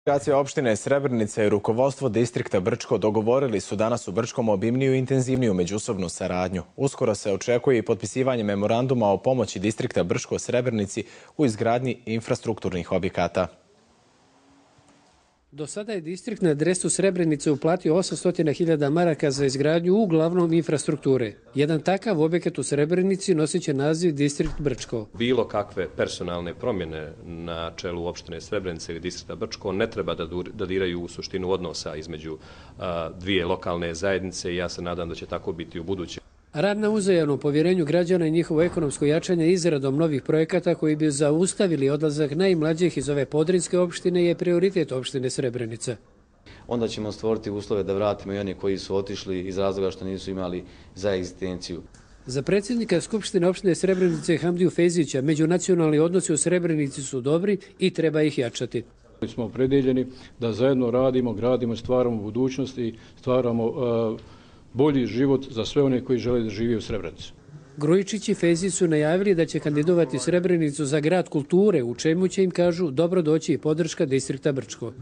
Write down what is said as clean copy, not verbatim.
Administracija opštine Srebrenica i rukovodstvo distrikta Brčko dogovorili su danas u Brčkom obimniju i intenzivniju međusobnu saradnju. Uskoro se očekuje i potpisivanje memoranduma o pomoći distrikta Brčko Srebrenici u izgradnji infrastrukturnih objekata. Do sada je distrikt na adresu Srebrenice uplatio 800.000 maraka za izgradnju uglavnom infrastrukture. Jedan takav objekat u Srebrenici nosit će naziv distrikt Brčko. Bilo kakve personalne promjene na čelu opštine Srebrenice ili distrikta Brčko ne treba da diraju u suštinu odnosa između dvije lokalne zajednice i ja se nadam da će tako biti u buduće. Rad na uzajamnom povjerenju građana i njihovo ekonomsko jačanje izradom novih projekata koji bi zaustavili odlazak najmlađih iz ove podrinjske opštine je prioritet opštine Srebrenica. Onda ćemo stvoriti uslove da vratimo i one koji su otišli iz razloga što nisu imali za egzistenciju. Za predsjednika Skupštine opštine Srebrenice Hamdiju Fejzića međunacionalni odnosi u Srebrenici su dobri i treba ih jačati. Smo opredeljeni da zajedno radimo, gradimo, stvaramo budućnost i stvaramo bolji život za sve one koji žele da žive u Srebrenici. Grujičić i Fejzić su najavili da će kandidovati Srebrenicu za grad kulture, u čemu će im, kažu, dobro doći i podrška distrikta Brčko.